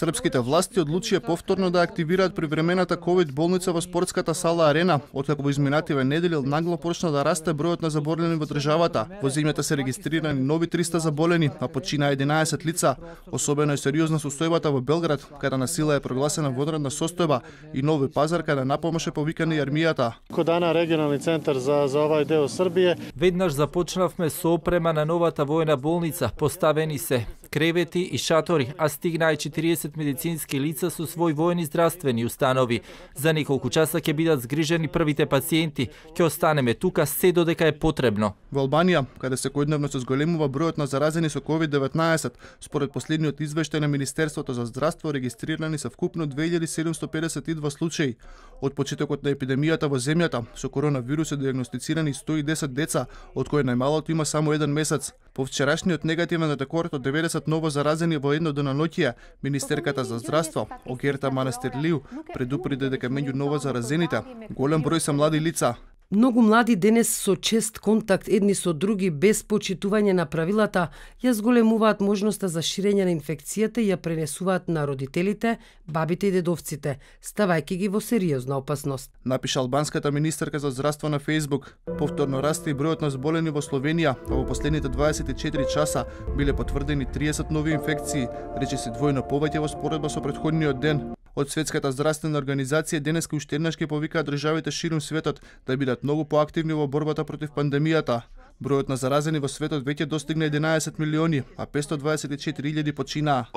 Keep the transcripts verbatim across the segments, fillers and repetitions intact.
Српските власти одлучија повторно да активираат привремената ковид болница во спортската сала Арена, откако во изминативе недели нагло почна да расте бројот на заболени во државата. Во земјата се регистрирани нови триста заболени, а почина единаесет лица. Особено е сериозна состојбата во Белград, каде на сила е прогласена водредна состојба, и Нови Пазар, каде напомоше повикана и армијата. Дана регионални центар за за овај дел Србија. Веднаш започнавме со опрема на новата војна болница, поставени се кревети и шатори, а стигнаа и четириесет медицински лица со свој војни здравствени установи. За неколку часа ќе бидат згрижени првите пациенти. Ќе останеме тука се додека е потребно. Во Албанија, каде секојдневно се зголемува бројот на заразени со ковид деветнаесет, според последниот извештај на Министерството за здравство регистрирани се вкупно две илјади седумстотини педесет и два случаи. Од почетокот на епидемијата во земјата со коронавирус е диагностицирани сто и десет деца, од кои најмалото има само еден месец. По вчерашниот негативен рекорд од деветдесет ново заразени во едно деноноќие, министерката за здравство Огерта Манастирлиу предупреди дека меѓу ново заразените голем број се млади лица. Многу млади денес со чест контакт едни со други без почитување на правилата ја зголемуваат можноста за ширење на инфекцијата и ја пренесуваат на родителите, бабите и дедовците, ставајќи ги во сериозна опасност. Напиша албанската министерка за здравство на Фејсбук. Повторно расте и бројот на зболени во Словенија, а во последните дваесет и четири часа биле потврдени триесет нови инфекции, речиси двојно повеќе во споредба со претходниот ден. Од Светската здравствена организација денеска уште еднаш ќе повикаат државите ширум светот да бидат многу поактивни во борбата против пандемијата. Бројот на заразени во светот веќе достигна единаесет милиони, а петстотини дваесет и четири илјади починаа.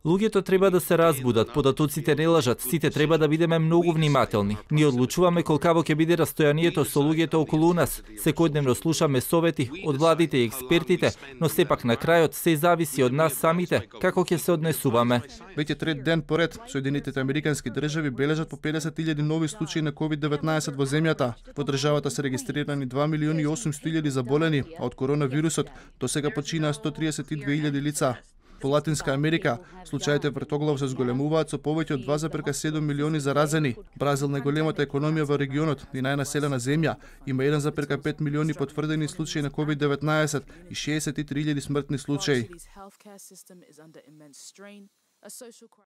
Луѓето треба да се разбудат, податоците не лажат, сите треба да бидеме многу внимателни. Ние одлучуваме колкаво ќе биде растојанието со луѓето околу нас. Секојдневно слушаме совети од владите и експертите, но сепак на крајот се зависи од нас самите како ќе се однесуваме. Веќе трет ден поред, Соединетите американски држави бележат по педесет илјади нови случаи на ковид деветнаесет во земјата. Во државата се регистрирани два милиони и осумстотини илјади заболени, а од коронавирусот до сега починаа сто триесет и две илјади лица. Во Латинска Америка, случаите вртоглав се зголемуваат со повеќе од два зарез седум милиони заразени. Бразил, најголемата економија во регионот и најнаселена земја, има еден зарез пет милиони потврдени случаи на ковид деветнаесет и шеесет и три илјади смртни случаи.